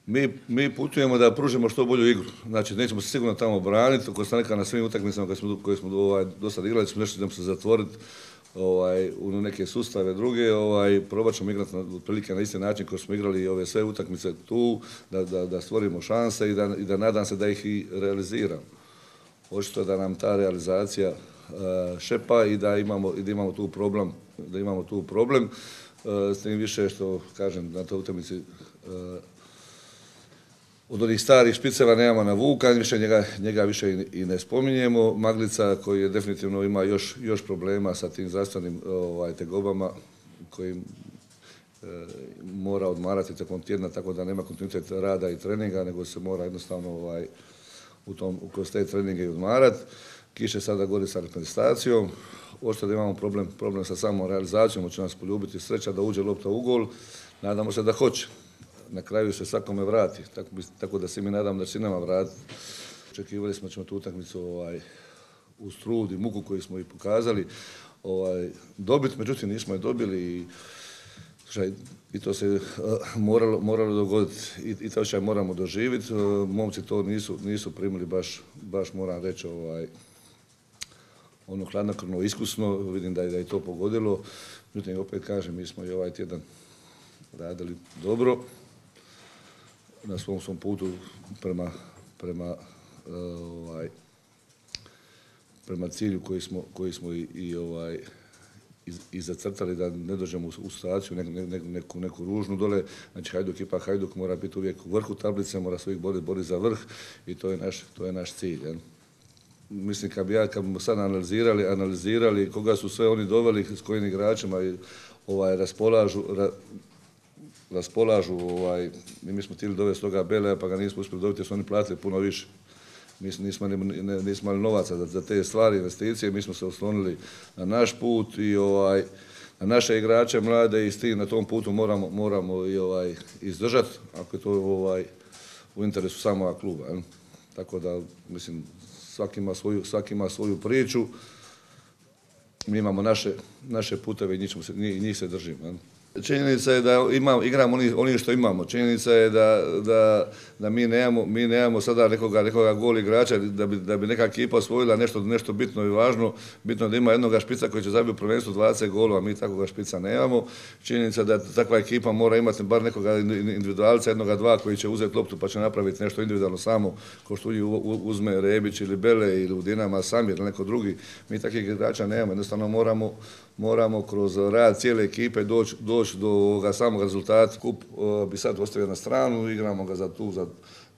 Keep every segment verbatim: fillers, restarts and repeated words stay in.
Mi, mi putujemo da pružimo što bolju igru. Znači, nećemo se sigurno tamo braniti. Ko sam rekao na svim utakmicama koje smo, koje smo ovaj, do sada igrali, smo nešto ćemo se zatvoriti ovaj, u neke sustave druge. Ovaj, probat ćemo igrati na, otprilike na isti način koji smo igrali i ove sve utakmice tu, da, da, da stvorimo šanse i da, i da nadam se da ih i realiziramo. Očito da nam ta realizacija uh, šepa i da imamo, i da imamo tu problem. Da imamo tu problem. Uh, s tim više što, kažem, na toj utakmici uh, od onih starih špiceva nemamo na Vuka, više njega, njega više i, i ne spominjemo. Maglica koji je definitivno ima još, još problema sa tim zdravstvenim ovaj, tegobama koji e, mora odmarati tijekom tjedna, tako da nema kontinuitet rada i treninga, nego se mora jednostavno ovaj, u tom, kroz te treninge i odmarati. Kiše sada gori sa reprezentacijom. Očito da imamo problem, problem sa samom realizacijom, hoće nas poljubiti sreća da uđe lopta u gol. Nadamo se da hoće. Na kraju se svakome vrati, tako, tako da se mi nadam da će nama vratiti. Očekivali smo da ćemo tu utakmicu ovaj, uz trud i muku koju smo i pokazali ovaj, dobiti, međutim nismo je dobili i, šaj, i to se uh, moralo, moralo dogoditi i, i to što moramo doživjeti. Uh, momci to nisu, nisu primili baš, baš moram reći, ovaj, ono hladnokrvno, iskusno, vidim da je, da je to pogodilo. Međutim, opet kažem, mi smo i ovaj tjedan radili dobro na svom svom putu prema, prema, uh, ovaj, prema cilju koji smo, koji smo i, i, ovaj, i, i zacrtali da ne dođemo u, u situaciju neku, neku, neku, neku ružnu dole. Znači Hajduk, ipak Hajduk mora biti uvijek u vrhu tablice, mora se uvijek boriti bori za vrh i to je naš, to je naš cilj. Ja. Mislim, kad bi ja, kad bi sad analizirali, analizirali koga su sve oni doveli, s kojim igračima i, ovaj, raspolažu, ra, raspolažu, ovaj, mi smo htjeli dovesti toga Beleja, pa ga nismo uspjeli dobiti jer su oni platili puno više. Mi nismo, nismo imali novaca za, za te stvari, investicije, mi smo se oslonili na naš put i ovaj, na naše igrače mlade i s tim na tom putu moramo, moramo i, ovaj, izdržati, ako je to ovaj, u interesu samoga kluba. Je. Tako da, mislim, svaki ima svoju, svaki ima svoju priču, mi imamo naše, naše puteve i njih, se, njih se držimo. Je. Činjenica je da imamo, igramo oni, oni što imamo. Činjenica je da, da, da mi, nemamo, mi nemamo sada nekoga, nekoga gol igrača da bi, da bi neka ekipa osvojila nešto, nešto bitno i važno. Bitno da ima jednoga špica koji će zabiti u prvenstvu dvadeset golova, mi takvoga špica nemamo. Činjenica da takva ekipa mora imati bar nekoga individualca, jednoga dva koji će uzeti loptu pa će napraviti nešto individualno samo, kao što uzme Rebić ili Bele ili u Dinama Samir ili neko drugi. Mi takvih igrača nemamo, jednostavno moramo, moramo kroz rad cijele ekipe doći doć do ovoga samog rezultata. Kup uh, bi sad ostavio na stranu, igramo ga za tu za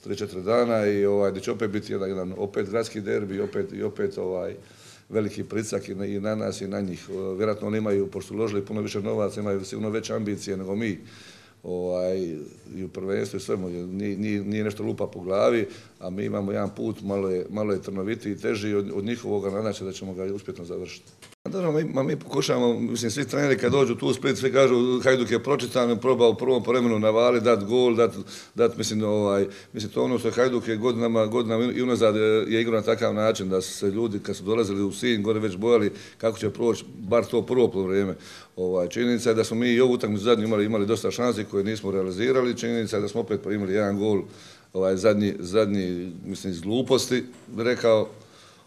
tri četiri dana i ovaj, da će opet biti jedan, jedan opet gradski derbi opet, i opet ovaj, veliki pritisak i na, i na nas i na njih. Uh, vjerojatno oni imaju, pošto uložili puno više novaca, imaju sigurno veće ambicije nego mi. Ovaj, i u prvenstvu i svemu, nije, nije, nije nešto lupa po glavi, a mi imamo jedan put, malo je, malo je trnovitiji i teži od, od njihovoga, nadam se da ćemo ga uspjetno završiti. Naravno, mi, mi pokušavamo, mislim, svi treneri kad dođu tu u Split, svi kažu Hajduk je pročitan, probao u prvom vremenu navali, dat gol, dat, dat mislim, ovaj, mislim, to ono što je Hajduk je godinama, godinama i unazad je igrao na takav način da su se ljudi, kad su dolazili u Sinj, gore već bojali kako će proći, bar to prvo poluvreme. Ovaj, činjenica je da smo mi i ovu utakmicu zadnju imali, imali dosta šansi koje nismo realizirali, činjenica je da smo opet imali jedan gol, ovaj, zadnji, zadnji, mislim, iz gluposti, rekao,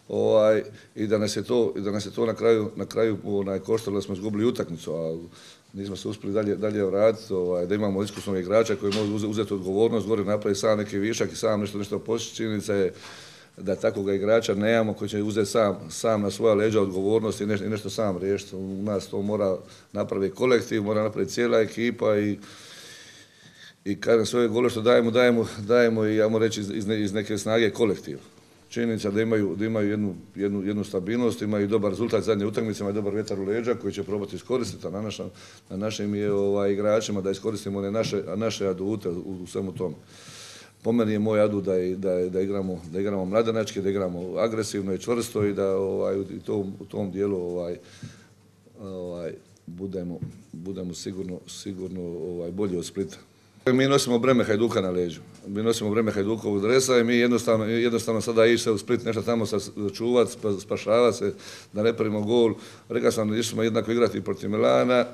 Ovaj, i da nas je to, da nas je to na kraju, na kraju onaj, koštalo da smo izgubili utakmicu, a nismo se uspjeli dalje, dalje vratiti, ovaj, da imamo iskusnog igrača koji može uzeti odgovornost, gore napravi sam neki višak i sam nešto, nešto postići. Činjenica je da takvog igrača nemamo koji će uzeti sam, sam na svoja leđa odgovornost i nešto, i nešto sam riješiti. U nas to mora napraviti kolektiv, mora napraviti cijela ekipa i i kažem sve gole što dajemo, dajemo, dajemo i ajmo reći iz, iz neke snage kolektiva. Činjenica da imaju, da imaju jednu, jednu, jednu stabilnost, imaju dobar rezultat zadnje utakmice, imaju dobar vjetar u leđa koji će probati iskoristiti, a na, naša, na našim je ovaj, igračima da iskoristimo one naše, naše adute u, u svemu tome. Po meni je moj adut da, da, da, igramo, da igramo mladenački, da igramo agresivno i čvrsto i da ovaj, u, tom, u tom dijelu ovaj, ovaj, budemo, budemo sigurno, sigurno ovaj, bolji od Splita. Mi nosimo breme Hajduka na leđu. Mi nosimo breme Hajdukovog dresa i mi jednostavno, jednostavno sada ići se u Split, nešto tamo čuvat, spašavati se, da ne primimo gol. Rekao sam da išli jednako igrati protiv Milana,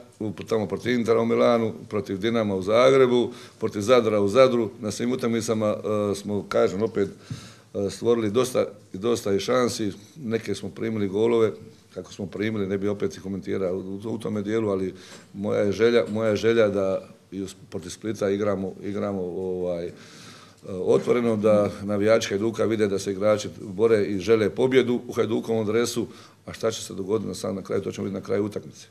tamo protiv Intera u Milanu, protiv Dinama u Zagrebu, protiv Zadra u Zadru. Na svim utakmicama uh, smo, kažem, opet uh, stvorili dosta, dosta i šansi. Neke smo primili golove, kako smo primili, ne bi opet i komentirao u, u tome dijelu, ali moja je želja, moja je želja da i protiv Splita igramo, igramo ovaj, otvoreno, da navijači Hajduka vide da se igrači bore i žele pobjedu u Hajdukovom dresu, a šta će se dogoditi na sam na kraju, to ćemo vidjeti na kraju utakmice.